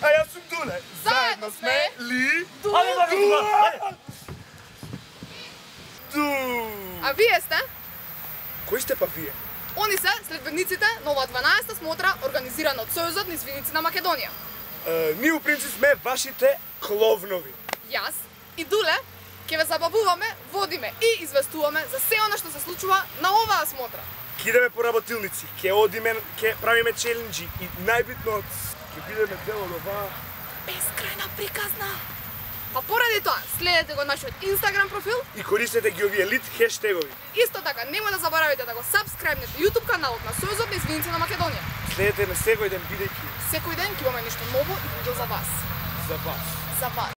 А јас сум Дуле. Заедно сме Ли. А вие сте? Кои сте па вие? Они се следбениците на ова 12-та смотра организирана од Сојузот на извиници на Македонија. Ние у принцип сме вашите кловнови. Јас и Дуле ќе ве забавуваме, водиме и известуваме за се она што се случува на оваа смотра. Ќе идеме по работилници, ќе одиме, ќе правиме челенџи и најбитно ќе бидеме дел од оваа Безкрајна приказна. Па поради тоа, следете го нашиот Инстаграм профил и користете ги овие лит хештегови. Исто така, немој да заборавите да го сабскрајбнете YouTube каналот на Сојузот на извиници на Македонија. Следете ме секој ден бидејќи Секој ден ќе имаме нешто ново и видео за вас. за вас. За вас.